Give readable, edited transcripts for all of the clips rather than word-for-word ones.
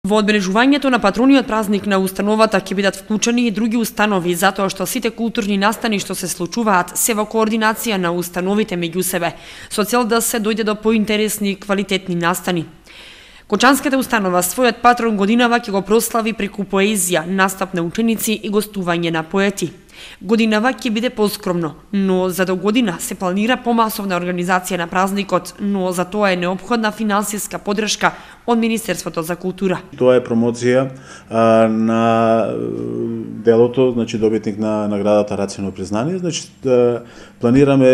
Во одбележувањето на патрониот празник на установата ќе бидат вклучени и други установи, затоа што сите културни настани што се случуваат се во координација на установите меѓу себе, со цел да се дојде до поинтересни и квалитетни настани. Кочанската установа својот патрон годинава ќе го прослави преку поезија, настап на ученици и гостување на поети. Годинава ќе биде поскромно, но за до година се планира помасовна организација на празникот, но за тоа е неопходна финансиска поддршка од Министерството за култура. Тоа е промоција на делото, значи добитник на наградата Рацино признание, значи планираме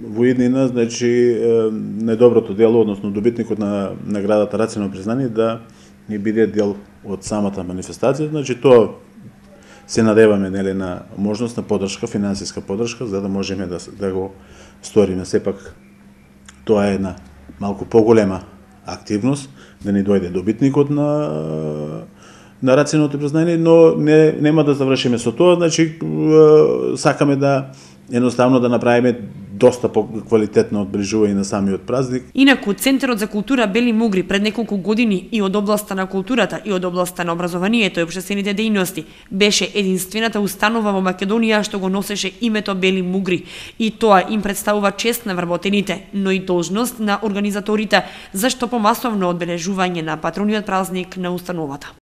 во иднина, значи недоброто дело, односно добитникот на наградата Рацино признание да не биде дел од самата манифестација, значи тоа се надеваме на можност на поддршка, финансиска поддршка, за да можеме да го сториме. Сепак тоа е една малку поголема активност, да ни дојде добитникот на Рациното признание, но нема да завршиме со тоа, значи сакаме да едноставно да направиме доста поквалитетно одбележување на самиот празник. Инаку, Центарот за култура Бели Мугри пред неколку години и од областа на културата и од областа на образованието и општествените дејности беше единствената установа во Македонија што го носеше името Бели Мугри, и тоа им представува чест на вработените, но и должност на организаторите за што помасовно одбележување на патрониот празник на установата.